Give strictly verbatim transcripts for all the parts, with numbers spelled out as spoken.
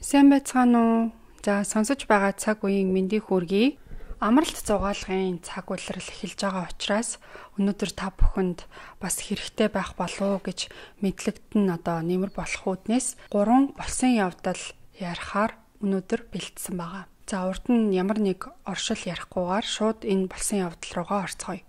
Сайн байцгаана уу? За сонсож байгаа цаг үеийн мэндийг хүргэе. Амралт зугаалгын цаг улирал эхэлж байгаа учраас өнөөдөр та бүхэнд бас хэрэгтэй байх болов уу гэж мэдлэгдэн одоо нэмэр болох үүднээс гурван болсон явдал ярихаар өнөөдөр бэлдсэн байгаа. За урд нь ямар нэг оршил ярихгүйгээр шууд энэ болсон явдал руугаа орцгоё.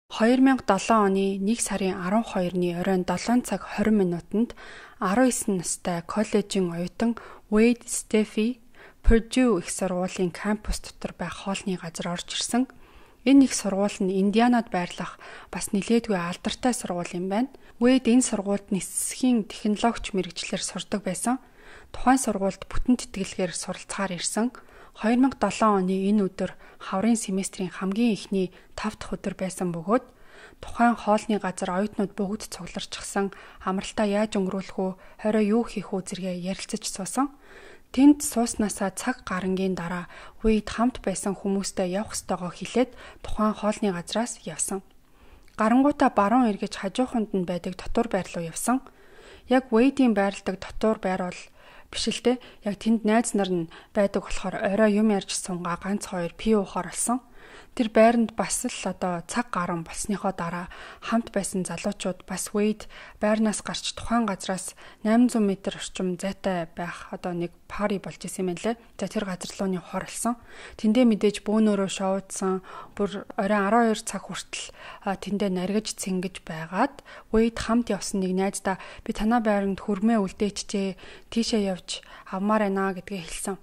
хоёр мянга долоон оны нэг сарын арван хоёрны оройн долоон цаг хорин минутанд арван девь настай коллежийн оюутан Wade Steffi Purdue их сургуулийн кампус дотор байх хоолны газар орж ирсэн. Энэ их сургууль нь Индианад байрлах бас нэлээдгүй алдартай сургууль юм байна. Wade энэ сургуульд нисхийн технологич мэргэжлэр сурдаг байсан. Тухайн сургуульд бүтэн тэтгэлгээр суралцахаар ирсэн. хоёр мянга долоон оны энэ өдөр хаврын семестрийн хамгийн эхний тав дахь өдөр байсан бөгөөд тухайн хоолны газар оюутнууд бүгд цугларчихсан, амралтаа яаж өнгөрүүлэх үү, хорой юу хийх үү зэрэг ярилцаж суусан. Тэнд сууснасаа цаг гарангийн дараа Wade хамт байсан хүмүүстэй явах ёстойгоо хэлээд тухайн хоолны газраас явсан. Гарангуудаа баруун эргэж хажууханд нь байдаг дотор байр руу явсан. Яг Wade-ийн байрладаг дотор байр бол биш л дээ. Яг тэнд найз нар нь байдаг болохоор орой юм ярьж сунгаа ганц хоёр пи уухаар болсон. Тэр байранд бас л одоо цаг гарan болсныхоо дараа хамт байсан залуучууд бас Wade байрнаас гарч тухайн газраас восемь сот метр орчим зайтай байх одоо нэг пари болж исэн юм лээ. За тэр газар руу нөхөр болсон. Тэндээ мэдээж бөөнөрөө шоудсан, бүр оройн арван хоёр цаг хүртэл тэндээ наргиж цэнгэж байгаад Wade хамт явсан нэг найздаа би танаа байранд хөрмөө үлдээчихжээ, тийшээ явж авмаар байна гэдгээ хэлсэн.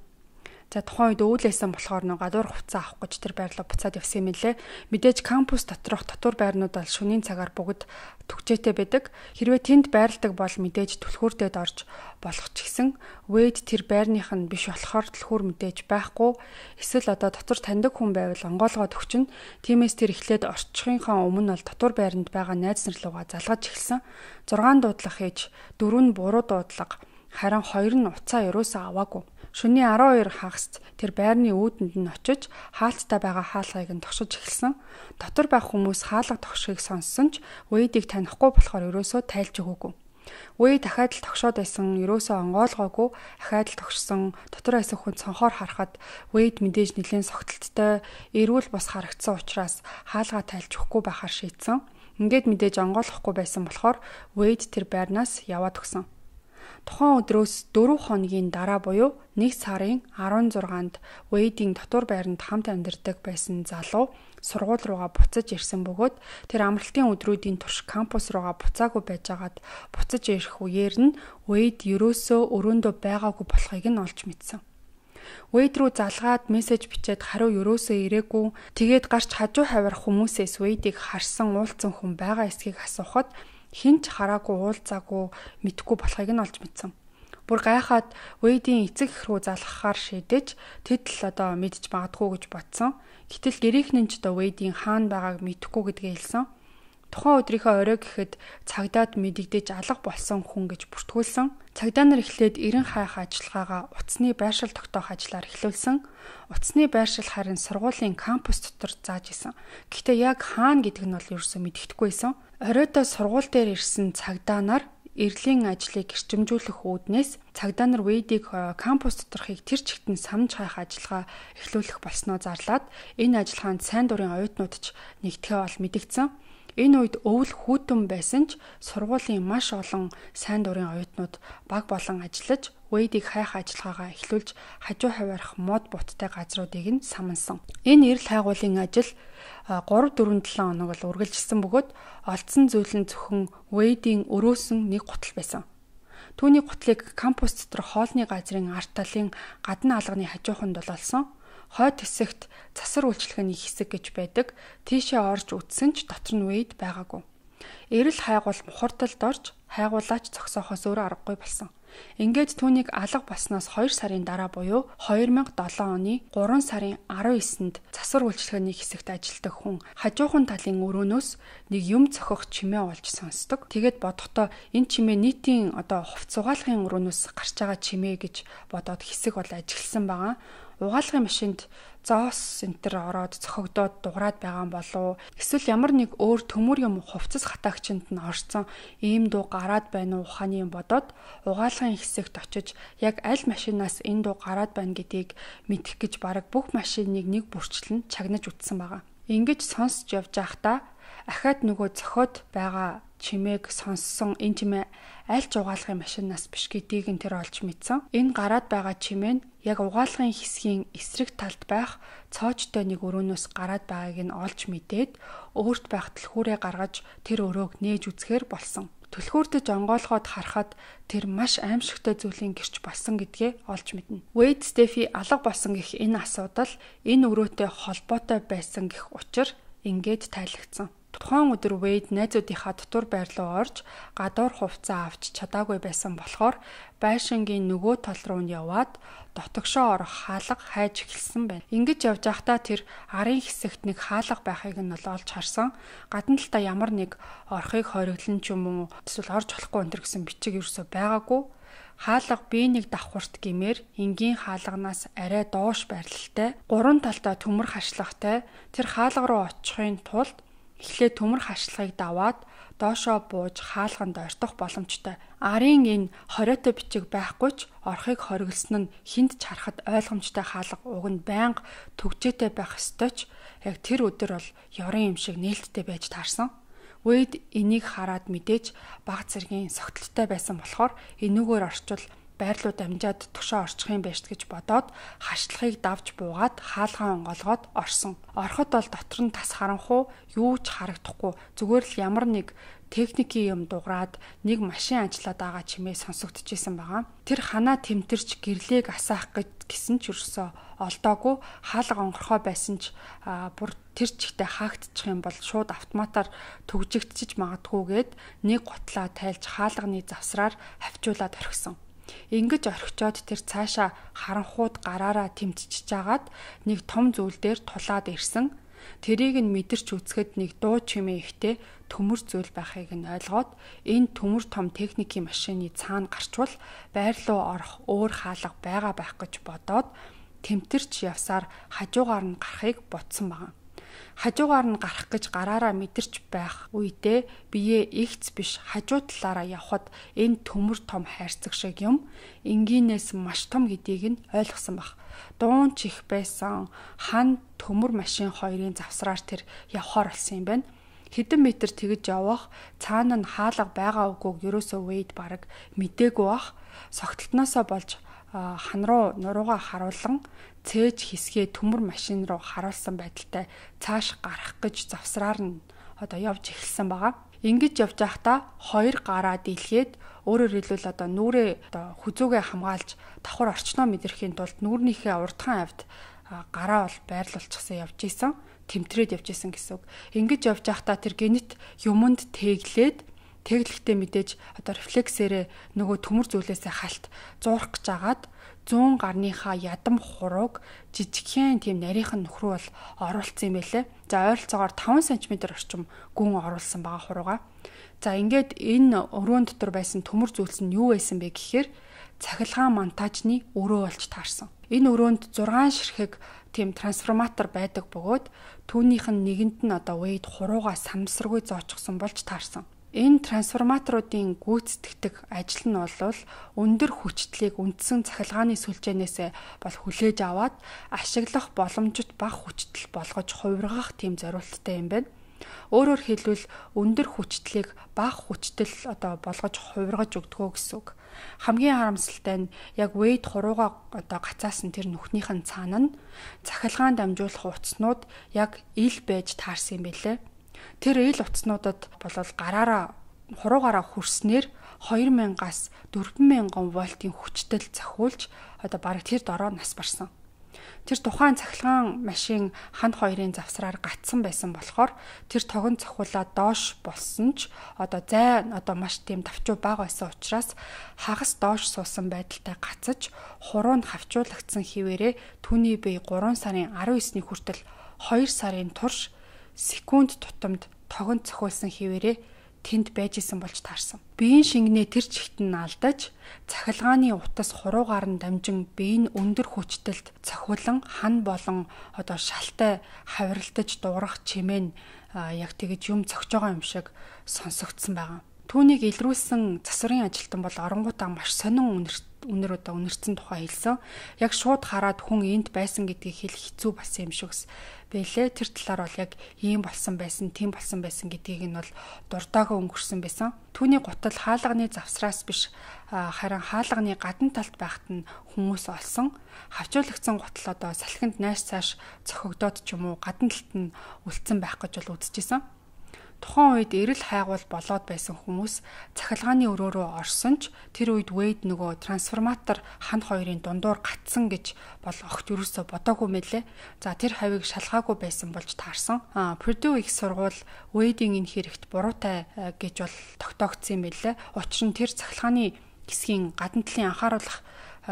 За тухайн үед өвлөсөн болохоор нэг гадуур хувцас авах гэж тэр байрлал буцаад явсан юм лээ. Мэдээж кампус доторх дотор байрнууд бол шөнийн цагаар бүгд төгчээтэй байдаг. Хэрвээ тэнд байрладаг бол мэдээж түлхүүртэд орж болох ч гэсэн Wade тэр байрных нь биш болохоор түлхүүр мэдээж байхгүй. Эсвэл одоо дотор таньдаг хүн байвал онгоолгоод өгчнө. Тиймээс тэр эхлээд орчихынхаа өмнө бол дотор байранд байгаа найз нар руугаа залгаж эхэлсэн. зургаан дуудлага хийж, дөрөв нь буруу дуудлага, харин хоёр нь уцаа ерөөсөө аваагүй. Шөнийн арван хоёр хагаст тэр байрны үүдэнд нь очиж хаалттай байгаа хаалгыг нь тогшиж эхэлсэн. Дотор байх хүмүүс хаалга тогшихыг сонссон ч Wade-ийг танихгүй болохоор ерөөсөө тайлж өгөөгүй. Wade дахиад л тогшоод байсан, ерөөсөө онгоолгоогүй, дахиад л тогшсон. Дотор байсан хүн цонхоор харахад Wade мэдээж нэлээд согтолттой, эрүүл бус харагдсан учраас хаалгаа тайлж өгөхгүй байхаар шийдсэн. Ингээд мэдээж онгоолгохгүй байсан болохоор Wade тэр байрнаас яваад өгсөн. Тухайн өдрөөс дөрвөн хоногийн дараа буюу нэг сарын арван зургаанд Wade-ийн дотор байранд хамт амьдардаг байсан залуу сургууль руугаа буцаж ирсэн бөгөөд тэр амралтын өдрүүдийн турш кампус руугаа буцаагүй байжгаад буцаж ирэх үеэр нь Wade ерөөсөө өрөөндөө байгаагүй болохыг нь олж мэдсэн. Wade руу залгаад мессеж бичээд хариу ерөөсөө ирээгүй. Тэгээд гарч хажуу хавар хүмүүсээс Wade-ийг харсан уулзсан хүн байгаа эсхийг асуухад хинч хараагүй уулзаагүй мэдхгүй болохыг нь олж мэдсэн. Бүр гайхаад Wade-ийн эцэг эх рүү залгахаар шийдэж тэд л одоо мэдж магадгүй гэж бодсон. Гэтэл гэрийнхэн ч одоо Wade-ийн хаана байгааг мэдэхгүй гэдгээ хэлсэн. Тухайн өдрийнхөө орой гэхэд цагдаад мэдэгдэж алга болсон хүн гэж бүртгүүлсэн. Цагдаа нар эхлээд эрен хайх ажиллагаагаа утасны байршил тогтоох ажлаар эхлүүлсэн. Утасны байршил харин сургуулийн кампус дотор зааж исэн. Гэхдээ яг хаана гэдг нь бол ерөөсөө мэдэгдэхгүй байсан. Оройдоо сургууль дээр ирсэн цагдаа нар эрлийн ажлыг гэрчимжүүлэх үүднээс цагдаа нар Wade-ийг кампус доторхыг тэр чигтэн самж хайх ажиллагаа эхлүүлэх болсноо зарлаад энэ ажиллагаанд сайн дурын оюутнууд ч нэгтгэе бол мэдэгдсэн. Энэ үед өвөл хүүтэн байсан ч сургуулийн маш олон сайн дурын оюутнууд баг болон ажиллаж Wade-ийг хайх ажиллагаагаа эхлүүлж хажуу хаваарх мод буттай газруудыг нь самансан. Энэ эрэл хайгуулын ажил гурав дөрвөн жилийн хоног бол үргэлжилсэн бөгөөд олдсон зүйл нь зөвхөн Wade-ийн өрөөсөн нэг гутал байсан. Түүний гутлыг кампус дотор хоолны газрын арт талын гадна алганы хажууханд бол олсон. Хойд хэсэгт засар үйлчлэгээний хэсэг гэж байдаг. Тийшээ орж үтсэн ч дотор нь Wade байгаагүй. Эрэл хайгуул мухардалд орж хайгуулаач зогсоохоос өөр аргагүй болсон. Ингээд түүнийг алга болсноос хоёр сарын дараа буюу хоёр мянга долоон оны гурван сарын арван девьнд засвар үйлчлэгээний хэсэгт ажилладаг хүн хажуухан талын өрөөнөөс нэг юм цохих чимээ олж сонсдог. Тэгээд бодохдоо энэ чимээ нийтийн одоо хувц угаалгын өрөөнөөс гарч байгаа чимээ гэж бодоод хэсэг бол ажигласан байгаа. Угаалгын машинд зоос энтер ороод цохогдоод дуграад байгаа болов эсвэл ямар нэг өөр төмөр юм хувцас хатаагчинд нь орсон ийм дуу гараад байна уу ухааны юм бодоод угаалгын хэсэгт очиж яг аль машинаас энэ дуу гараад байна гэдгийг мэдэх гэж бараг бүх машиныг нэг бүрчлэн чагнаж үтсэн байгаа. Ингэж сонсч явж байхдаа ахаад нөгөө зохиод байгаа чимээг сонссон энэ чимээ аль ч угаалгын машинаас биш гэдгийг нь тэр олж мэдсэн. Энэ гараад байгаа чимээ нь яг угаалгын хэсгийн эсрэг талд байх цоочтой нэг өрөөнөөс гараад байгааг нь олж мэдээд өөрт байх түлхүүрээ гаргаж тэр өрөөг нээж үзэхээр болсон. Түлхүүртэж онгойлгоод харахад тэр маш аимшигтай зүйлийн гэрч болсон гэдгээ олж мэднэ. Wade Steffi алга болсон гэх энэ асуудал энэ өрөөтэй холбоотой байсан гэх учир ингээд тайлагдсан. Тухайн өдөр Wade найзуудынхаа дотор байр руу орж гадуур хувцас авч чадаагүй байсан болохоор байшингийн нөгөө тал руу нь яваад дотогшоо орох хаалга хайж эхэлсэн байна. Ингэж явж байхдаа тэр арын хэсэгт нэг хаалга байхыг нь олж харсан. Гадна талдаа ямар нэг орохыг хориглон ч юм уу эсвэл орж болохгүй энэ гэсэн бичиг ерөөсөй байгаагүй. Хаалга бие нэг давхурт гэмээр энгийн хаалганаас арай доош байрлалтай, гурван талдаа төмөр хашлагтай тэр хаалга руу очихын тулд эхлээд төмөр хашлагыг даваад доошоо бууж хаалганд ойртох боломжтой. Арын энэ хориотой бичиг байхгүй ч орохыг хориглосон нь хинд ч харахад ойлгомжтой хаалга уг нь байнга төгжээтэй байх ёстой ч яг тэр өдөр бол ёрын юм шиг нээлттэй байж таарсан. Wade энийг хараад мэдээж баг зэргийн согтолтой байсан болохоор энүүгээр орчвол байрлууд амжаад тушаа орчих юм байж гэж бодоод хашлагыг давж буугаад хаалгаа онгоолгоод орсон. Ороход бол дотор нь тас харанхуу юу ч харагдахгүй зүгээр л ямар нэг техникийн юм дуграад нэг машин ажиллаад байгаа чимээ сонсогдчихсэн байгаа. Тэр ханаа тэмтэрч гэрлээг асаах гэж гисэн ч юусоо олдоогүй хаалга онгорхоо байсан ч бүр тэр чигтээ хаагдчих юм бол шууд автоматар төгжигдчих магадгүйгээд нэг гутлаа тайлж хаалганы завсраар хавчуулаад орхисон. Ингэж орхичоод тэр цаашаа харанхууд гараараа тэмтчихэж агаад нэг том зүйл дээр тулаад ирсэн. Тэрийг нь мэдэрч үзэхэд нэг дуу чимээ ихтэй төмөр зүйл байхыг нь ойлгоод энэ төмөр том техникийн машины цаана гарчвал байр руу орох өөр хаалга байгаа байх гэж бодоод тэмтэрч явсаар хажуугаар нь гарахыг бодсон байна. Хажуугаар нь гарах гэж гараараа мэдэрч байх үедээ бие игц биш хажуу талаараа явхад энэ төмөр том хайрцаг шиг юм энгийнээс маш том гэдгийг нь ойлгосон баг. Дуун чих байсан хан төмөр машин хоёрын завсраар тэр явхаар болсон юм байна. Хэдэн метр тэгж явах цаана нь хаалга байгаа үгүйг ерөөсөө Wade бараг мдээгүй бах. Согтолтноосоо болж хан руу нуруугаа харуулсан цээж хэсгээ төмөр машин руу харуулсан байдалтай цааш гарах гэж завсраар нь одоо явж эхэлсэн байгаа. Ингэж явж байхдаа хоёр гараа дийлгээд өөрөөр хэлбэл одоо нүрээ одоо хүзүүгээ хамгаалж давхар орчноо мэдрэхийн тулд нүрнийхээ урдхан авд гараа бол байрлуулчихсан явж исэн. Тэмтрээд явж исэн гэсэн үг. Ингэж явж байхдаа тэр генет юмд тэглээд тэглэхдээ мэдээж одоо рефлексээрээ нөгөө төмөр зүйлээсээ халт зуурах гэж агаад зүүн гарныхаа ядам хурууг жижигхэн тийм нарийнхан нөхрөө бол оруулсан юм байлээ. За ойролцоогоор таван сантиметр орчим гүн оруулсан байгаа хурууга. За ингээд энэ өрөөнд дотор байсан төмөр зүйлс нь юу байсан бэ гэхээр цахилгаан монтажны өрөө болж таарсан. Энэ өрөөнд зургаан ширхэг тийм трансформатор байдаг бөгөөд түүнийх нь нэгэнд нь одоо Wade хурууга самсаргүй зоочихсон болж таарсан. Энэ трансформаторуудын гүйцэтгэдэг ажил нь бол өндөр хүчтлийг үндсэн цахилгааны сүлжээнээс бол хүлээж аваад ашиглах боломжит бага хүчтэл болгож хувиргах тийм зорилттой юм байна. Өөрөөр хэлбэл өндөр хүчтлийг бага хүчтэл одоо болгож хувиргаж өгдгөө гэсэн үг. Хамгийн харамсалтай нь яг Wade хурууга одоо гацаасан тэр нүхнийхэн цаана нь цахилгаан дамжуулах утаснууд яг ил байж таарсан юм билээ. Тэр ил утаснуудад болол гараараа хуруугаараа хүрснээр хоёр мянгаас дөрвөн мянган вольтын хүчтэй цохиулж одоо бараг тэр дороо нас барсан. Тэр тухайн цахилгаан машин ханд хоёрын завсраар гатсан байсан болохоор тэр тогон цохиулаад доош болсон ч одоо зай одоо маш тийм давчуу бага байсан учраас хагас доош суусан байдалтай гацаж хуруу нь хавчуулагдсан хിവэрээ түүний бие гурван сарын арван есний хүртэл хоёр сарын турш секунд тутамд тогон цохиулсан хിവэрээ тэнд байж исэн болж таарсан. Биеийн шингэнээ тэр чигт нь алдаж, цахилгааны утас хуруугаар нь дамжин биеийн өндөр хүчтэлд цохиулан хан болон одоо шалтай хавиралтаж дуурах чимээ яг тэгэж юм цогж байгаа юм шиг сонсогдсон байгаа. Түүнийг илрүүлсэн засварын ажилтан бол оронгуудаа маш сонин үнэр одоо үнэрсэн тухай хэлсэн. Яг шууд хараад хүн энд байсан гэдгийг хэлэх хэцүү бас юм шигс бэлээ. Тэр талаар бол яг ийм болсон байсан, тийм болсон байсан гэдгийг нь бол дуртаагаа өнгөрсөн байсан. Түүний гутал хаалганы завсраас биш харин хаалганы гадна талд байхад нь хүмүүс олсон. Хавчуулагдсан гутал одоо салхинд найш цааш цохигдоод ч юм уу гадна талд нь үлдсэн байх гэж бол үзчихсэн. Тухайн үед эрэл хайгуул болоод байсан хүмүүс цахилгааны өрөө рүү орсон ч тэр үед Wade нөгөө трансформатор хан хоёрын дундуур гатсан гэж бол огт юусоо бодоогүй мэлээ. За тэр хавийг шалгаагүй байсан болж таарсан. А Purdue их сургууль Wade-ийн энэ хэрэгт буруутай гэж бол тогтоогдсон юм билээ. Учир нь тэр цахилгааны хэсгийн гадна талын анхааруулах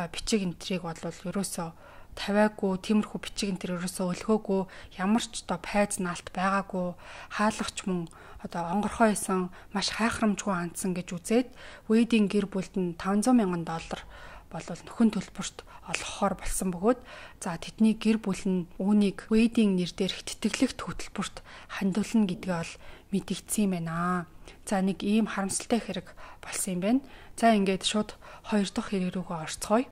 бичиг энтрийг бол ерөөсөө тавиагүй, тиймэрхүү бичиг энэ төр ерөөсөө өлгөөгүй, ямар ч одоо пайз наалт байгаагүй, хаалгач мөн одоо онгорхой исэн маш хайхрамжгүй хандсан гэж үзээд Wade-ийн гэр бүлд нь таван зуун мянган доллар болвол нөхөн төлбөрт олгохоор болсон бөгөөд за тэдний гэр бүл нь үүнийг Wade-ийн нэр дээрх тэтгэлэгт хөтөлбөрт хандуулна гэдгээ бол мэдэгдсэн юм байна. За нэг ийм харамсалтай хэрэг болсон юм байна. За ингээд шууд хоёр дахь хэрэг рүүгээ орцгоё.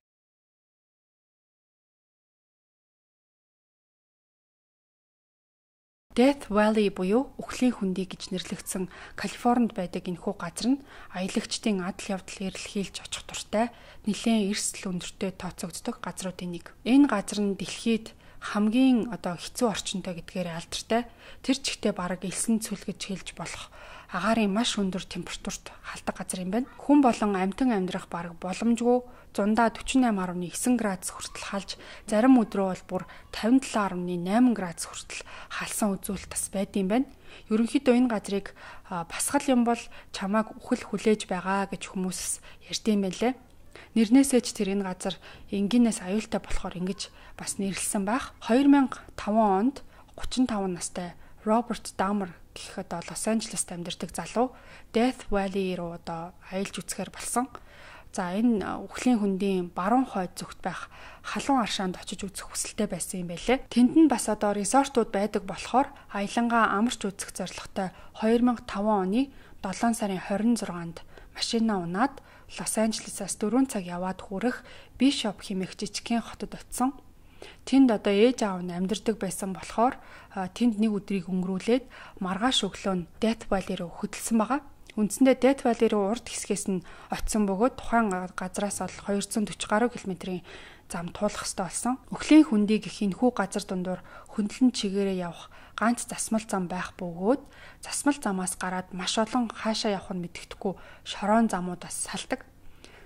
Death Valley буюу Үхлийн хөндий гэж нэрлэгдсэн Калифорнид байдаг энэхүү газар нь аялагчдын адал явдал эрэлхийлж очих дуртай нэлээд эрсдэл өндөртэй тооцогддог газруудын нэг. Энэ газар нь дэлхийд хамгийн одоо хэцүү орчинтой гэдгээр алдартай. Тэр чигтээ бараг элсэн цүл гэж хэлж болох агаарын маш өндөр температурт халдаг газар юм байна. Хүн болон амьтан амьдрах бараг боломжгүй зундаа дөрвөн и tám дөрвөн градус хүртэл халж, зарим өдрөө бол бүр тавин долоо дөрвөн восемь градус хүртэл халсан үзүүлэлт бас байдсан байна. Ерөнхийдөө энэ газрыг басгал юм бол чамааг үхэл хүлээж байгаа гэж хүмүүс ярьдсан байлээ. Нэрнээсээ ч тэр энэ газар энгийнээс аюултай болохоор ингэж бас нэрлсэн байх. хоёр мянган и таван онд гучин таван настай Роберт Дамер гэх одоо Лос Анжелест амьдардаг залуу Death Valley руу одоо аялж үзэхээр болсон. За энэ Үхлийн хөндийн баруун хойд зүгт байх халуун аршаанд очиж үзэх хүсэлтэй байсан юм байлээ. Тэнд нь бас одоо резортууд байдаг болохоор аялангаа амарч үзэх зорилготой хоёр мянган и таван оны долоон сарын хорин зургаанд машинаа унаад Лос Анжелесаас дөрвөн цаг яваад хүрэх Бишоп хэмээх жижигхэн хотод очисон. Тэнд одоо ээж аав нь амьдардаг байсан болохоор тэнд нэг өдрийг өнгөрүүлээд маргааш өглөө нь Death Valley руу хөдөлсөн байгаа. Үндсэндээ Death Valley руу урд хэсгээс нь очисон бөгөөд тухайн газраас бол двести сорок гаруй километрийн зам туулах ёстой болсон. Үхлийн хөндий гэх энэхүү газар дундуур хөндлөн чигээрээ явах ганц засмал зам байх бөгөөд засмал замаас гараад маш олон хаашаа явах нь мэддэхгүй шороон замууд бас салдаг.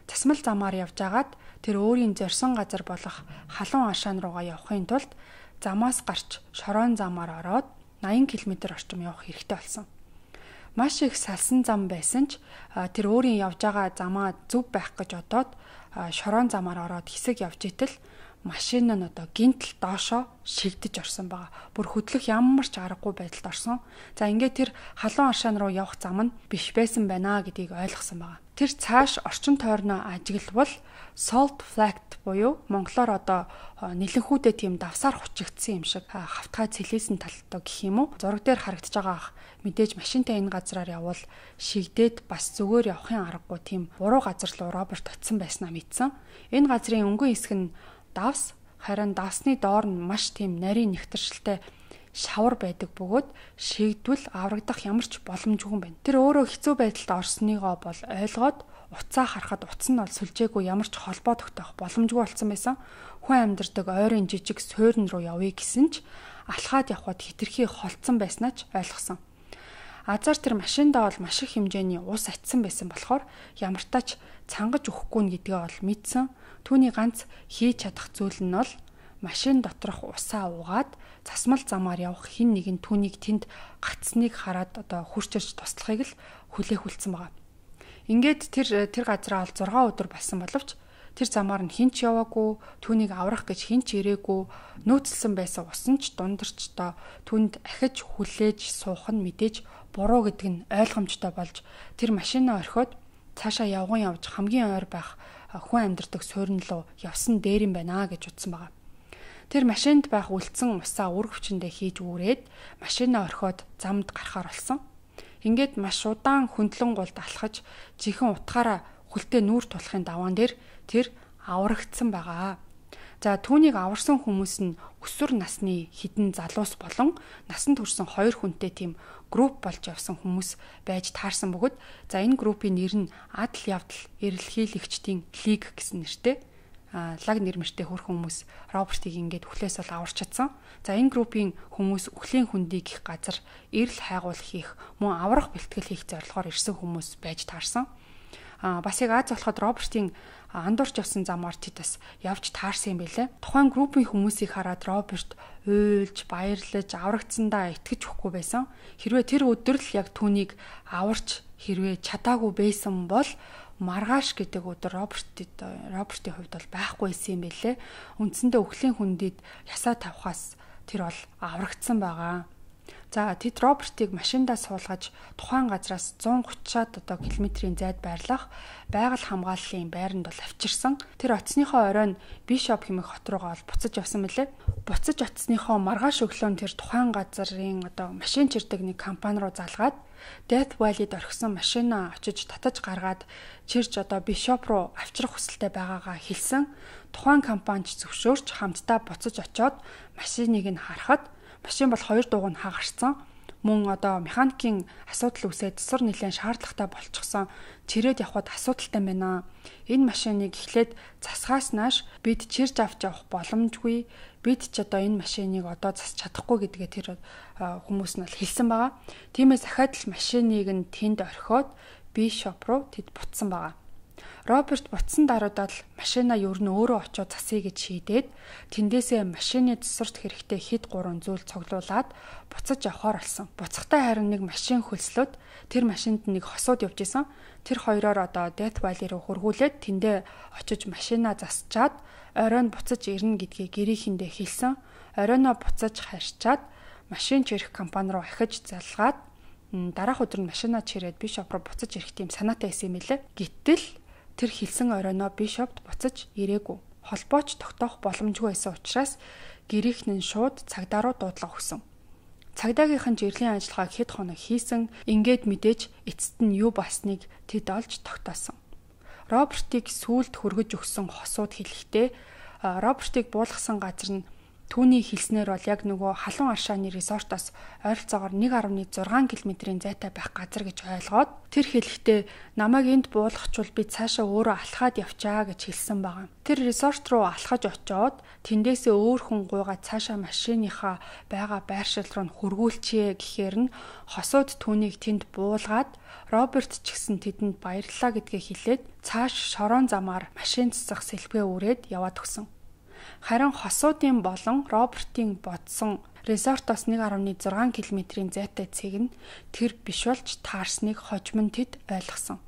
Засмал замаар явж агаад тэр өөрийн зорьсон газар болох халуун ашаан руугаа явахын тулд замаас гарч шороон замаар ороод восемь километр орчим явах хэрэгтэй болсон. Маш их салсан зам байсан ч тэр өөрийн явж байгаа замаа зөв байх гэж одоод шороон замаар ороод хэсэг явж итэл машин нь одоо гинтл доошоо шигдэж орсон байгаа. Бүр хөдлөх ямар ч аргагүй байдалд орсон. За ингээд тэр халуун аршаан руу явах зам нь биш байсан байна гэдгийг ойлгосон байгаа. Тэр цааш орчин тойрноо ажиглавал salt flat буюу монголоор одоо нэлэнхүүдээ тийм давсаар хучигдсан юм шиг хавтгай цэлээсэн талтай гэх юм уу. Зураг дээр харагдаж байгаа мэдээж машинтай энэ газраар явбал шигдээд бас зүгээр явахын аргагүй тийм буруу газар руу Роберт очисон байснаа мэдсэн. Энэ газрын өнгөн хэсэг нь давс, харин давсны доор нь маш тийм нарийн нэгтэршилтэй шавар байдаг бөгөөд шигдвэл аврагдах ямар ч боломжгүй байна. Тэр өөрөө хэцүү байдалд орсныгоо бол ойлгоод уцаа харахад утас нь бол сүлжээгүй ямар ч холбоо тогтоох боломжгүй болсон байсан. Хүн амьдардаг ойрын жижиг суурин руу явъя гэсэн ч алхаад явхад хитрхи холцсон байснаа ч ойлгосон. Азар тэр машиндаа бол маш их хэмжээний ус атсан байсан болохоор ямартаач цангаж өгөхгүй гэдгээ бол мэдсэн. Түүний ганц хийж чадах зүйл нь бол машин доторх усаа уугаад засмал замаар явах хин нэгэн түүнийг тэнд гацсныг хараад одоо хурцж туслахыг л хүлээх үлдсэн байгаа. Ингээд тэр тэр газараа бол зургаан өдөр болсон боловч Тэр замаар нь хинч яваагүй, түүнийг аврах гэж хинч ирээгүй, нөөцлсөн байсан усан ч дундарчдоо түнд ахиж хүлээж суух нь мэдээж буруу гэдэг нь ойлгомжтой болж тэр машинаа орхиод цаашаа явган явж хамгийн ойр байх хүн амьдардаг суурин руу явсан дээр юм байна гэж утсан байгаа. Тэр машинд байх үлдсэн усаа үр хүчиндээ хийж үүрээд машинаа орхиод замд гарахаар болсон. Ингээд маш удаан хөндлөн гулд алхаж жихэн утгаараа хүлтэй нүүр тулахын даваан дээр тэр аврагдсан байгаа. За түүнийг аварсан хүмүүс нь өсвөр насны хідэн залуус болон насанд хүрсэн хоёр хүнтэй тийм групп болж явсан хүмүүс байж таарсан бөгөөд за энэ группийн нэр нь Адал явдал эрэлхийлэгчдийн лиг гэсэн нэртэй. Лаг нэрмэртэй хөрх хүмүүс Робертыг ингээд үхлээс бол аварч чадсан. За энэ группийн хүмүүс үхлийн хүндийг их газар эрэл хайгуул хийх, мөн аврах бэлтгэл хийх зорилгоор ирсэн хүмүүс байж таарсан. А бас яг Аз болоход Робертийн андуурч явсан замаар тэд бас явж таарсан юм байлээ. Тухайн группийн хүмүүсийг хараад Роберт уйлж, баярлаж, аврагдсандаа итгэж өгөхгүй байсан. Хэрвээ тэр өдөр л яг түүнийг аварч хэрвээ чадаагүй байсан бол маргааш гэдэг өдөр Робертид Робертийн хувьд бол байхгүй байсан юм байлээ. Үндсэндээ үхлийн хүндид ясаа тавхаас тэр бол аврагдсан байгаа. За тэд Робертыг машиндаа суулгаж тухайн газраас зуун гуцаад одоо километрийн зайд байрлах байгаль хамгааллын байранд бол авчирсан. Тэр оцсныхоо оройн Бишоп хэмээх хот руугаа бол буцаж явсан мөлий. Буцаж оцсныхоо маргааш өглөө тэр тухайн газрын одоо машин чирдэг нэг компани руу залгаад Death Valley-д орхисон машинаа очиж татаж гаргаад чирж одоо Бишоп руу авчрах хүсэлтэй байгаагаа хэлсэн. Тухайн компанич зөвшөөрч хамтдаа буцаж очоод машиныг нь харахад машин бол хоёр дууг нь хагарсан. Мөн одоо механикийн асуудал үүсээд засвар нэлээд шаардлагатай болчихсон. Чирээд явхад асуудалтай байна. Энэ машиныг эхлээд засгаас нааш бид чирж авч явах боломжгүй. Бид ч одоо энэ машиныг одоо засч чадахгүй гэдгээ тэр хүмүүс нь бол хэлсэн байгаа. Тиймээс дахиад л машиныг нь тэнд орхиод Бишоп руу тэд буцсан байгаа. Роберт буцсан даруйдаа л машинаа ер нь өөрөө очиод засъя гэж шийдээд тэндээсээ машины засварт хэрэгтэй хэд гурван зүйл цуглуулад буцаж явхаар болсон. Буцахтай харин нэг машин хөлслөд тэр машинд нэг хосууд явж исэн. Тэр хоёроор одоо Death Valley руу хургуулээд тэндээ очиж машинаа засчаад оройн буцаж ирнэ гэдгийг гэрээхэндээ хэлсэн. Оройноо буцаж харьчаад машин чирэх компани руу ахиж залгаад дараах өдөр нь машинаа чирээд Бишоп руу буцаж ирэх тийм санаатай байсан юм лээ. Гэтэл тэр хэлсэн оройноо Бишопт буцаж ирээгүй. Холбооч тогтоох боломжгүй байсан учраас гэрийнх нь шууд цагдаа руу дуудлага өгсөн. Цагдаагийнхан жирлийн ажиллагааг хэд хоног хийсэн. Ингээд мэдээж эцэст нь юу болсныг тэд олж тогтоосон. Робертыг сүулт хөргөж өгсөн хосууд хэлэхдээ Робертыг буулгасан газар нь түүний хэлснээр бол яг нөгөө халуун аршааны резортоос ойролцоогоор нэг гаруй зургаан километрийн зайтай байх газар гэж ойлгоод тэр хэлэхдээ намайг энд буулгачвал би цаашаа өөрөө алхаад явчаа гэж хэлсэн байгаа. Тэр резорт руу алхаж очиод тэндээсээ өөр хүн гуйгаа цаашаа машиныхаа байгаа байршил руу хөргүүлчихье гэхээр нь хосууд түүнийг тэнд буулгаад Роберт ч гэсэн тэдэнд баярлалаа гэдгээ хэлээд цааш шорон замаар машин цэцэх сэлбгээ үрээд яваад өгсөн. Харин хосуудын болон Робертийн бодсон резортоос нэг гаруй зургаан километрийн зайтай цэг нь тэр биш болж таарсныг хожим нь тэд ойлгосон.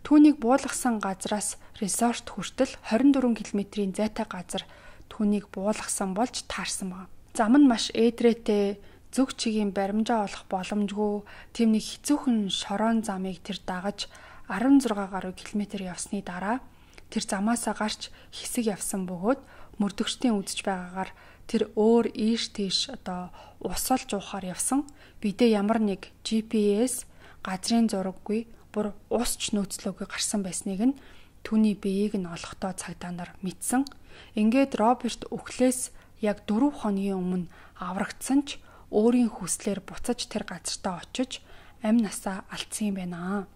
Түүнийг буулгасан газраас резорт хүртэл хорин дөрвөн километрийн зайтай газар түүнийг буулгасан болж таарсан байна. Зам нь маш ээдрээтэй, зүг чигийн баримжаа олох боломжгүй тийм нэг хэцүүхэн шорон замыг тэр дагаж арван зургаан гаруй километр явсны дараа тэр замаасаа гарч хэсэг явсан бөгөөд мөрдөгчдийн үдж байгаагаар тэр өөр ийш тийш одоо усалж уухаар явсан. Бидээ ямар нэг джи пи эс газрын зураггүй бүр усч нөөцлөөгүй гарсан байсныг нь түүний биеийг нь олохдоо цагдаа нар мэдсэн. Ингээд Роберт өглөөс яг дөрвөн хоногийн өмнө аврагдсан ч өөрийн хүслээр буцаж тэр газартаа очиж амь насаа алдсан юм байна.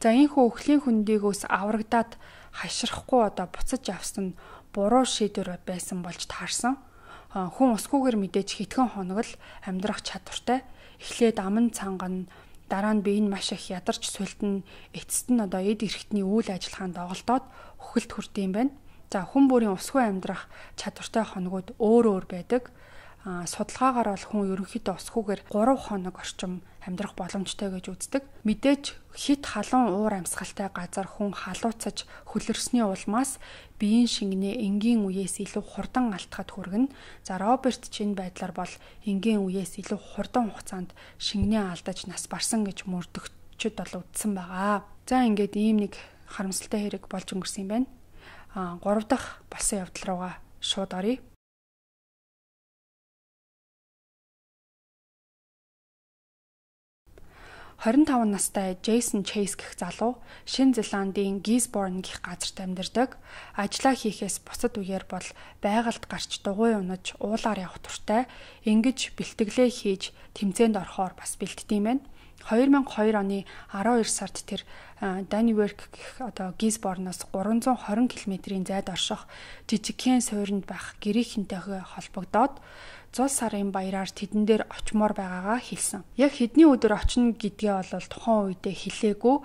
За энэхүү өхлийн хөндийгөөс аврагдаад хашрахгүй одоо буцаж авсан нь буруу шийдвэр байсан болж таарсан. Хүн усгүйгээр мэдээж хэдхэн хоног л амьдрах чадвартай. Эхлээд аман цанган, дараа нь бие нь маш их ядарч сүлдэн, эцэст нь одоо эд эрхтний үйл ажиллагаанд доголдоод үхэлд хүрдэм байна. За хүн бүрийн усгүй амьдрах чадвартай хоногуд өөр өөр байдаг. судалгаагаар бол хүн ерөнхийдөө усхүүгээр гурав хоног орчим амьдрах боломжтой гэж үздэг. Мэдээж хит халуун уур амьсгалтай газар хүн халууцаж хөлөрсний улмаас биеийн шингэнээ энгийн үеэс илүү хурдан алдахад хүргэнэ. За Роберт ч энэ байдлаар бол энгийн үеэс илүү хурдан хугацаанд шингэнээ алдаж нас барсан гэж мөрдөгчд бол үздсэн байгаа. За ингээд ийм нэг харамсалтай хэрэг болж өнгөрсөн юм байна. А гурав дахь болсон явдал руугаа шууд оръё. хорин таван настай Джейсон Чейз гэх залуу Шинэ Зеландын Гизборн гэх газарт амьдардаг. Ажлаа хийхээс бусад үеэр бол байгальд гарч дугуй унаж уулаар явах туртай. Ингэж бэлтгэлээ хийж тэмцээнд орохоор бас бэлтдэм байна. две тысячи и два оны12 сард тэр Даниверк гэх одоо Гизборноос гурван зуун хорин км-ийн зайд орших жижигхэн суурьнд байх гэрийнхэнтэйгээ холбогдоод зул сарын баяраар тэдэн дээр очимоор байгаагаа хэлсэн. Яг хэдний өдөр очино гэдгээ бол тухайн үедээ хэлээгүй.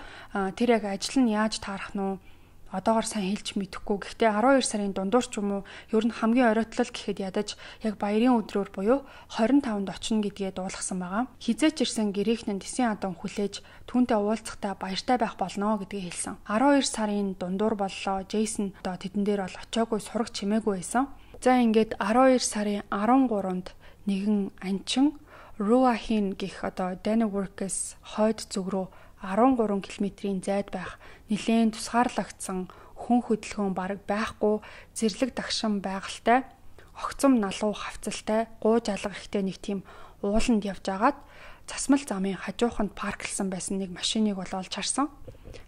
Тэр яг ажил нь яаж таарах нь одоогоор сайн хэлж мэдэхгүй. Гэхдээ двадцать two сарын дундуур ч юм уу ер нь хамгийн оройтол гэхэд ядаж яг баярын өдрөөр буюу двадцать five-нд очино гэдгээ дуулгасан байгаа. Хизээч ирсэн гэрээхнэн Тэсийн адам хүлээж түүнтэй уулзахдаа баяртай байх болно гэдгээ хэлсэн. двадцать two сарын дундуур боллоо. Джейсон одоо тэдэн дээр бол очиагүй сураг чимээгүй байсан. За ингээд двадцать two сарын13-нд нэгэн анчин Руахин гэх одоо Даниверкээс хойд зүг рүү13 км-ийн зайд байх нэлээд тусгаарлагдсан хүн хөдөлгөөн бараг байхгүй зэрлэг дагшин байгальтай огцом налуу хавцалтай гууж алга ихтэй нэг тийм ууланд явж агаад засмал замын хажууханд парклсан байсан нэг машиныг бол олж харсан.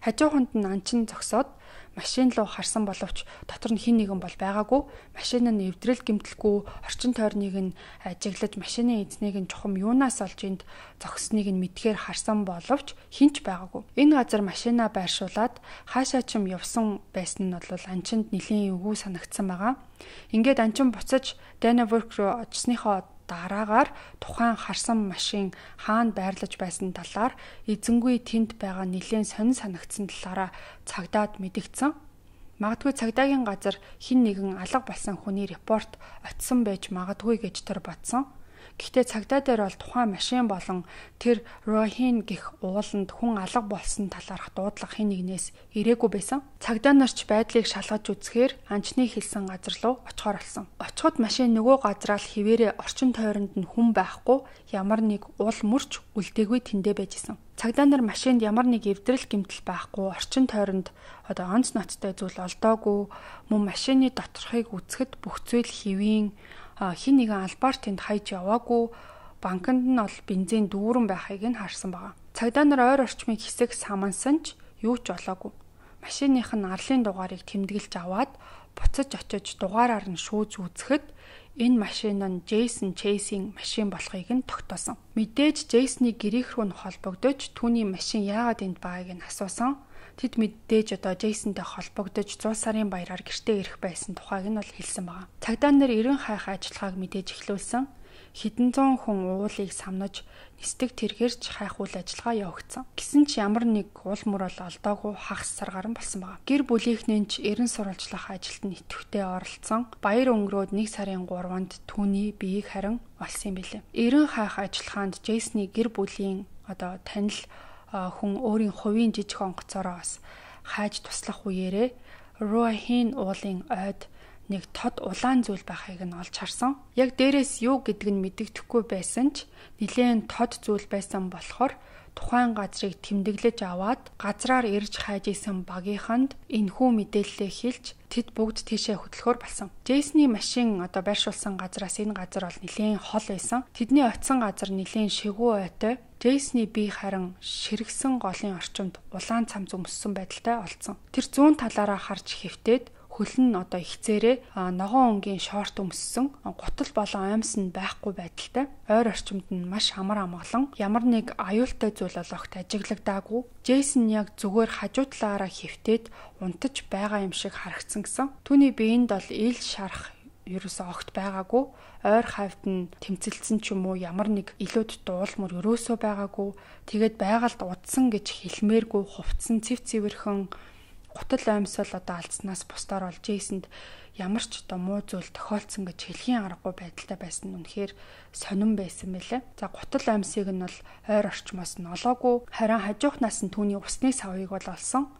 Хажууханд нь анчин зогсоод машин руу харсан боловч дотор нь хэн нэгэн бол байгаагүй. Машин нь эвдрэл гэмтэлгүй орчин тойрныг нь ажиглаж машины эзнийг нь чухам юунаас олж энд зогсныг нь мэдхээр харсан боловч хинч байгаагүй. Энэ газар машинаа байршуулад хаашаа ч юм явсан байсан нь бол анчинд нэлийн эвгүй санагдсан байгаа. Ингээд анчин буцаж Даниверк руу очсныхоо дараагаар тухайн харсан машин хаана байрлаж байсан талаар эзэнгүй тэнд байгаа нэлийн сонин санагдсан талаараа цагдаад мэдгдсэн. Магадгүй цагдаагийн газар хэн нэгэн алга болсон хүний репорт очсон байж магадгүй гэж тэр бодсон. Гэхдээ цагдаа дээр бол тухайн машин болон тэр Рохин гэх ууланд хүн алга болсон талаарх дуудлага хэн нэгнээс ирээгүй байсан. Цагдаа нарч байдлыг шалгаж үзэхээр анчны хэлсэн газар руу очихоор болсон. Очиход машин нөгөө газраа л хിവэрэ орчин тойронд нь хүн байхгүй ямар нэг уул мөрч үлдээгүй тэндэ байжсэн. Цагдаа нар машинд ямар нэг эвдрэл гэмтэл байхгүй орчин тойронд одоо онц ноцтой зүйл олдоогүй мөн машины доторхыг үзэхэд бүх зүйл хэвийн хин нэгэн албаар тэнд хайж яваагүй банкнд нь бол бензин дүүрэн байхыг нь харсан байгаа. Цагдаа нар ойр орчмыг хэсэг самансан ч юу ч олоогүй. Машиных нь арлын дугаарыг тэмдэглэж аваад буцаж очиж дугаараар нь шүүж үзэхэд энэ машин нь Джейсон Чейзийн машин болохыг нь тогтоосон. Мэдээж Джейсны гэрийнх рүү нь холбогдож түүний машин яагаад энд байгааг нь асуусан. Тэд мэдээж одоо Джейсонтэй холбогдож зул сарын баяраар гэртээ ирэх байсан тухайг нь бол хэлсэн байгаа. Цагдаа нар эрен хайх ажиллагааг мэдээж эхлүүлсэн. Хэдэн зуун хүн уулыг самнаж нисдэг тэргэрч хайх үйл ажиллагаа явагдсан. Гэсэн ч ямар нэг уул мөр бол олдоогүй хагас саргаран болсон байгаа. Гэр бүлийнхнээ ч эрен сурвалжлах ажилд нь идэвхтэй оролцсон. Баяр өнгөрөөд нэг сарын гуравнд түүний биеийг харин олсон юм билээ. Эрен хайх ажиллагаанд Джейсны гэр бүлийн одоо танил хүн өөрийн хувийн жижиг онгоцоороо бас хайж туслах үеэрээ Руахин уулын ойд нэг тод улаан зүйл байхыг нь олж харсан. Яг дээрээс юу гэдг нь мэдэгдэхгүй байсан ч нэлээд тод зүйл байсан болохоор тухайн газрыг тэмдэглэж аваад газраар ирж хайж исэн багийнханд энэхүү мэдээлэлээ хэлж тэд бүгд тийшээ хөтлөхөр болсон. Джейсны машин одоо байршуулсан газраас энэ газар бол нэлээд хол байсан. Тэдний очисон газар нэлээд шигүү ойтой. Джейсны бие харин ширгсэн голын орчимд улаан цамц өмссөн байдалтай олдсон. Тэр зүүн талаараа харж хэвтээд хөлн нь одоо ихцээрээ ногоон өнгийн шорт өмссөн, гутал болон оймс нь байхгүй байдалтай. Ойр орчимд нь маш амар амгалан ямар нэг аюултай зүйл олохт ажиглагдаагүй. Джейсон яг зүгээр хажуу талаараа хэвтээд унтаж байгаа юм шиг харагдсан гэсэн. Түүний биеинд бол ил шарах ерөөсөө огт байгаагүй. Ойр хавьд нь тэмцэлсэн ч юм уу ямар нэг илүүд дуулмөр ерөөсөө байгаагүй. Тэгээд байгальд удсан гэж хэлмээргүй хувцсан цэв цэвэрхэн гутал оймсол одоо алдснаас бусдаар бол Джейсонд ямар ч одоо муу зүйл тохиолдсон гэж хэлхийн аргагүй байдалтай байсан нь үнэхээр сонирн байсан байлээ. За гутал оймсыг нь бол ойр орчмоос нь олоогүй, харин хажуухнаас нь түүний усны савыг бол олсон.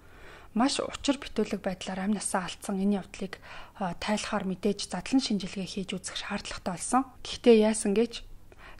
Маш учир битүүлэг байдлаар амь насаа алдсан энэ явдлыг тайлахаар мэдээж задлан шинжилгээ хийж үзэх шаардлагатай болсон. Гэхдээ яасан гэж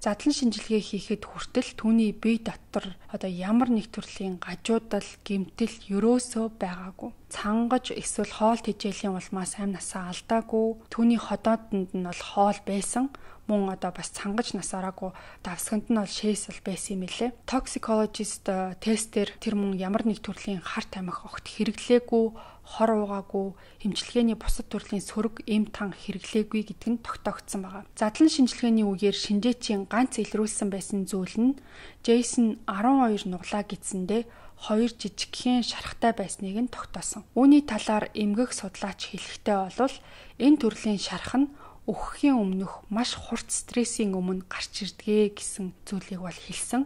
задлан шинжилгээ хийхэд хүртэл түүний бие дотор одоо ямар нэг төрлийн гажуудал, гэмтэл ерөөсөө байгаагүй. Цангаж эсвэл хоол тэжээлийн улмаас амь насаа алдаагүй. Түүний ходоодонд нь бол хоол байсан. Мөн одоо бас цангаж нас ороогүй, давсганд нь бол шээсэл байсан юм лээ. Toxicologist тестээр тэр мөн ямар нэг төрлийн хар тамхи огт хэрэглээгүй, хор уугаагүй, эмчилгээний бусад төрлийн сөрөг, эм тан хэрэглээгүй гэдг нь тогтоогдсон байгаа. Задлан шинжилгээний үеэр шинжээчийн ганц илрүүлсэн байсан зүйл нь Джейсон арван хоёр нуглаа гидсэндээ хоёр жижигхэн шархтай байсныг нь тогтоосон. Үүний талаар эмгэх судлаач хэлэхдээ бол энэ төрлийн шарх нь өөххийн өмнөх маш хурд стрессийн өмнө гарч ирдгээ гэсэн зүйлийг бол хэлсэн.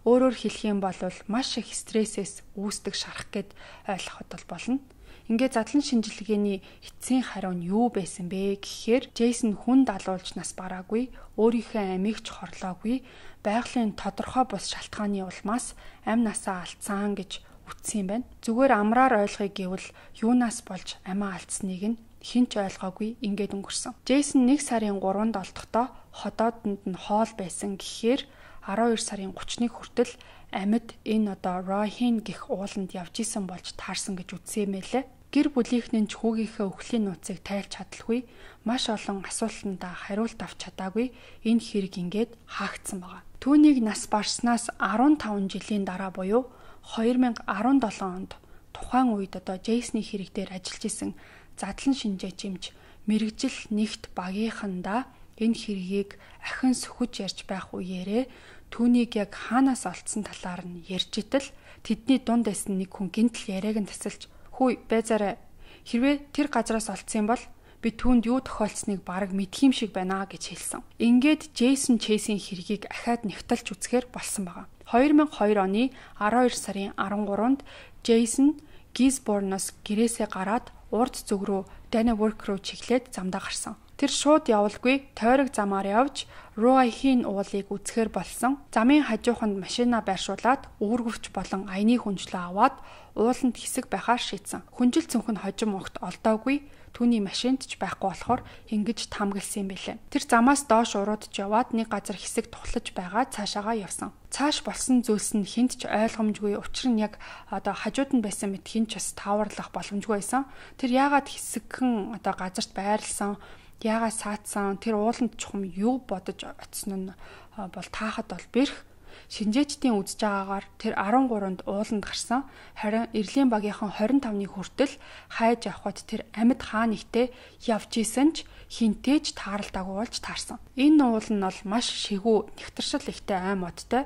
Өөрөөр хэлэх юм бол маш их стрессээс үүсдэг шарх гэд ойлгоход бол болно. Ингээд задлан шинжилгээний эцсийн хариу нь юу байсан бэ гэхээр Джейсон хүн далуулж нас бараагүй, өөрийнхөө амийг ч хорлоогүй, байгалийн тодорхой бус шалтгааны улмаас амь насаа алдсан гэж үтсэн юм байна. Зүгээр амраар ойлгоё гэвэл юунаас болж амиа алдсныг нь хинч ойлгоогүй ингээд өнгөрсөн. Джейсон нэг сарын гуравнд олдохдоо ходоодонд нь хоол байсан гэхээр арван хоёр сарын гуравныг хүртэл амьд энэ одоо Ройхин гэх ууланд явж исэн болж таарсан гэж үзсэн юм байлээ. Гэр бүлийнхэн ч хүүгийнхээ өхлийн нууцыг тайлж чадалгүй, маш олон асуултандаа хариулт авч чадаагүй энэ хэрэг ингээд хаагдсан байгаа. Түүнийг нас барснаас арван таван жилийн дараа буюу хоёр мянга арван долоо онд тухайн үед одоо Джейсны хэрэг дээр ажиллаж исэн задлан шинжээч эмч мэрэгжил нэгт багийнхандаа энэ хэргийг ахин сөхөж ярьж байх үеэрээ түүнийг яг хаанаас олдсон талаар нь ярьж итэл тэдний дунд байсан нэг хүн гинтл яриаг нь тасалж "Хүй байзаарай. Хэрвээ тэр газраас олдсон юм бол би түүнд юу тохиолдсныг бараг мэдх юм шиг байна" гэж хэлсэн. Ингээд Джейсон Чейсийн хэргийг ахаад нэгтэлж үзэхээр болсон байгаа. хоёр мянга хоёр оны арван хоёр сарын арван гуравнд Джейсон Гизборноос гэрээсээ гараад урд зүг рүү Данневорк руу чиглээд замдаа гарсан. Тэр шууд явалгүй тойрог замаар явж Ройхийн уулыг үзэхээр болсон. Замын хажууханд машина байршуулад үүргэвч болон аяны хүнжлөө аваад ууланд хэсэг байхаар шийдсэн. Хүнжил цүнх нь хожим огт олдоогүй. Түүний машинд ч байхгүй болохоор ингэж таамагласан юм билээ. Тэр замаас доош уруудж яваад нэг газар хэсэг тухлаж байгаа цаашаагаа явсан. Цааш болсон зүйлс нь хинт ч ойлгомжгүй, учир нь яг одоо хажууд нь байсан мэт хинч бас тааварлах боломжгүй байсан. Тэр яагаад хэсэгхэн одоо газарт байрлсан, яагаад саацсан, тэр ууланд чухам юу бодож оцсон нь бол таахад бол бэрх. Шинжээчдийн үзэж байгаагаар тэр арван гуравнд ууланд гарсан. Харин Эрлийн багийнхан хорин тавны хүртэл хайж авахд тэр амьд хаа нэгтээ явж исэн ч хинтээж тааралдаагүй болж таарсан. Энэ уул нь бол маш шигүү, нэгтэршил ихтэй ай модтой,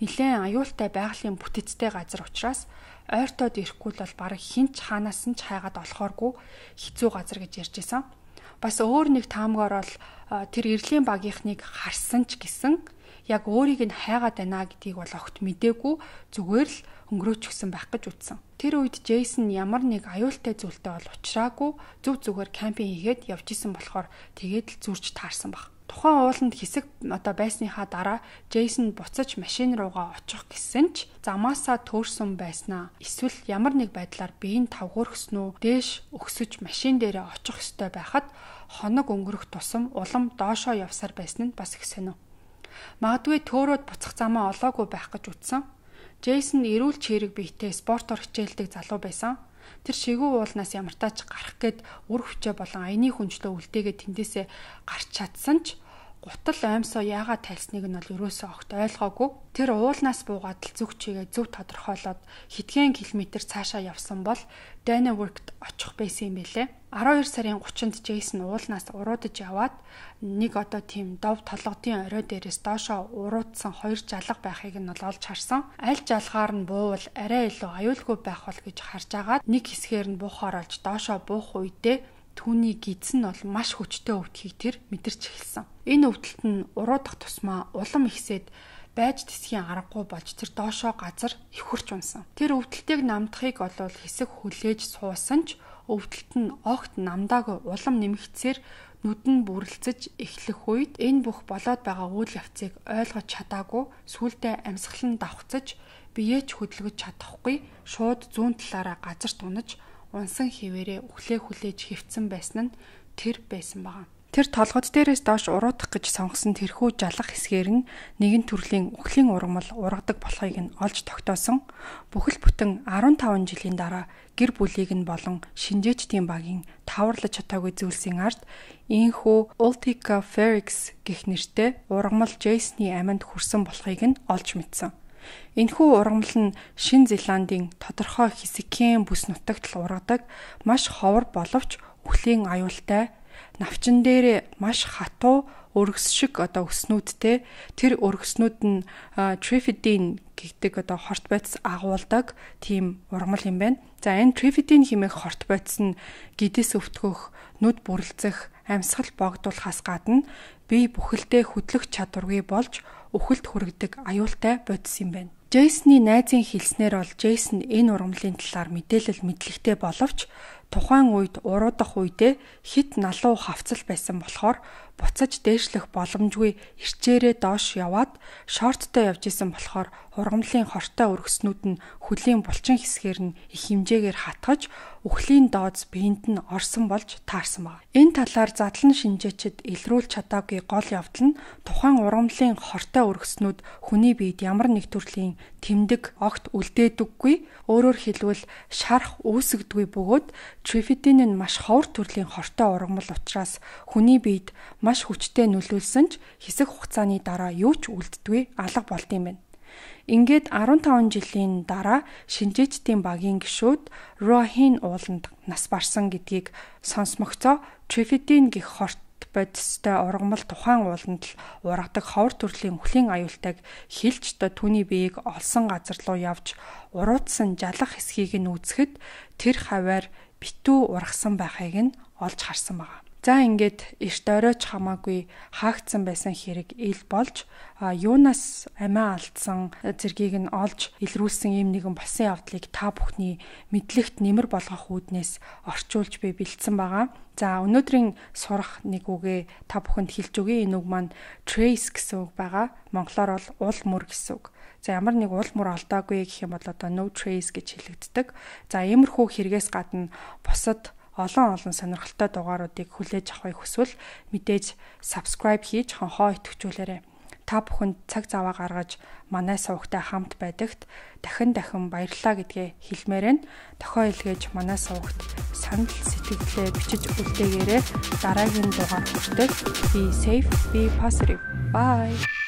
нэлээд аюултай байгалийн бүтэцтэй газар учраас ойртоод ирэхгүй бол бараг хинч хаанаас нь ч хайгаад олохооргүй хэцүү газар гэж ярьж исэн. Бас өөр нэг таамгаар бол тэр Эрлийн багийнхныг харсан ч гэсэн яг өөрийг нь хайгаад байна гэдгийг бол огт мэдээгүй, зүгээр л өнгөрөөчихсөн байх гэж үзсэн. Тэр үед Джейсон ямар нэг аюултай зүйлтэй бол учраагүй, зүв зүгээр кампинг хийгээд явж исэн болохоор тэгээд л зүрж таарсан баг. Тухайн ууланд хэсэг одоо байсныхаа дараа Джейсон буцаж машин руугаа очих гэсэн ч замаасаа төөрсөн байснаа эсвэл ямар нэг байдлаар биеийн тавгуурхсноо дээш өгсөж машин дээрээ очих ёстой байхад хоног өнгөрөх тусам улам доошоо явсаар байсан нь бас их сонио. Магадгүй төөрөөд буцах замаа олоогүй байх гэж үзсэн. Джейсон эрүүл чирэг биетэй спортоор хичээлдэг залуу байсан. Тэр шигүү уулнаас ямартаач гарах гээд үр хүчээ болон аяны хүнжлөө үлдээгээд тэндээсээ гарч чадсан ч гутал оймсоо яагаад тайлсныг нь бол ерөөсөө огт ойлгоогүй. Тэр уулнаас буугаад л зүг чигээ зөв тодорхойлоод хэдхэн километр цаашаа явсан бол Данневоркт очих байсан юм билээ. арван хоёр сарын гуравчнд Джейсон уулнаас уруудаж яваад нэг одоо тийм дов толгодын орой дээрээс доошоо уруудсан хоёр жалга байхыг нь бол олж харсан. Аль жалгаар нь буувал арай илүү аюулгүй байх бол гэж харж агаад нэг хэсгээр нь буухаар олж доошоо буух үедээ түүний гидс нь бол маш хүчтэй өвдөхийг тэр мэдэрч эхэлсэн. Энэ өвдөлт нь уруудах тусмаа улам ихсээд байж тэсхийн аргагүй болж тэр доошоо газар ихвэрч унсан. Тэр өвдөлтийг намдахыг олвол хэсэг хүлээж суусан ч өвдөлт нь огт намдаагүй улам нэмэгцээр нүд нь бүрлцэж эхлэх үед энэ бүх болоод байгаа үйл явцыг ойлгож чадаагүй сүулдэ амьсгал нь давхцаж биеэ ч хөдөлгөж чадахгүй шууд зүүн талаараа газарт унаж унсан хിവэрээ үхлээ хүлээж хөвцөн байсан нь тэр байсан байгаа. Тэр толгод дээрээс доош уруудах гэж сонгосон тэрхүү жалах хэсгээр нь нэгэн төрлийн үхлийн ургамал ургадаг болохыг нь олж тогтоосон. Бүхэл бүтэн арван таван жилийн дараа гэр бүлийг нь болон шинжээчдийн багийн таварлаж чадаагүй зүйлсийн ард ийхүү Ultica Ferrix гэх нэртэй ургамал Джейсны аминд хүрсэн болохыг нь олж мэдсэн. Энэхүү ургамал нь Шинэ Зеландын тодорхой хэсгийн бүс нутагт л ургадаг маш ховор боловч үхлийн аюултай навчин дээр маш хатуу өргөс шиг одоо өснүүдтэй тэр өргөснүүд нь трифидин гэдэг одоо хорт байц агуулдаг тийм ургамал юм байна. За энэ трифидин хэмээх хорт байц нь гидээс өвтгөх, нүд бүрлцэх, амьсгал богдуулахаас гадна бие бүхэлдээ хөдлөх чадваргүй болж үхэлд хүргэдэг аюултай бодис юм байна. Джейсны найзын хэлснээр бол Джейсон энэ ургамлын талаар мэдээлэл мэдлэгтэй боловч тухайн үед уруудах үедээ хит налуу хавцал байсан болохоор буцаж дээшлэх боломжгүй ирчээрээ доош яваад шорттой явж исэн болохоор ургамлын хортой өргөснүүд нь хөлийн булчин хэсгээр нь их хэмжээгээр хатгаж үхлийн дооз биед нь орсон болж таарсан байна. Энэ талаар задлан шинжээчид илрүүлж чадаагүй гол явдал нь тухайн ургамлын хортой өргөснүүд хүний биед ямар нэг төрлийн тэмдэг огт үлдээдэггүй, өөрөөр хэлбэл шарах үүсгдэггүй бөгөөд трифидин нь маш ховор төрлийн хортой ургамал учраас хүний биед маш хүчтэй нөлөөлсөн ч хэсэг хугацааны дараа юу ч үлддэггүй алга болд юм байна. Ингээд арван таван жилийн дараа шинжээчдийн багийн гишүүд Роахин ууланд нас барсан гэдгийг сонсмогцоо трифидин гэх хорт бодистой ургамал тухайн ууланд л ургадаг ховор төрлийн үхлийн аюултайг хэлж та түүний биеийг олсон газар руу явж уруудсан жалах хэсгийг нь үзэхэд тэр хаваар битүү ургасан байхыг нь олж харсан байна. За ингээд эрт оройч хамаагүй хаагдсан байсан хэрэг ил болж юунаас амиа алдсан зэргийг нь олж илрүүлсэн ийм нэгэн болсон явдлыг та бүхний мэдлэгт нэмэр болгох үүднээс орчуулж би бэлдсэн байгаа. За өнөөдрийн сурах нэг үгээ та бүхэнд хэлж өгье. Энэ үг маань trace гэсэн үг байгаа. Монголоор бол уул мөр гэсэн үг. За ямар нэг уул мөр алдаагүй гэх юм бол одоо no trace гэж хэлэгддэг. За иймэрхүү хэрэгээс гадна бусад олон олон сонирхолтой дугааруудыг хүлээж авахыг хүсвэл мэдээж subscribe хийж хонхоо идэвхжүүлээрэй. Та бүхэнд цаг зав гаргаж манай сувагтай хамт байдагт дахин дахин баярлалаа гэдгээ хэлмээр байна. Дохио илгээж манай сувагт санал сэтгэлдээ бичиж үлдээгээрэй. Дараагийн дугаар хүртэл be safe, be positive. Bye.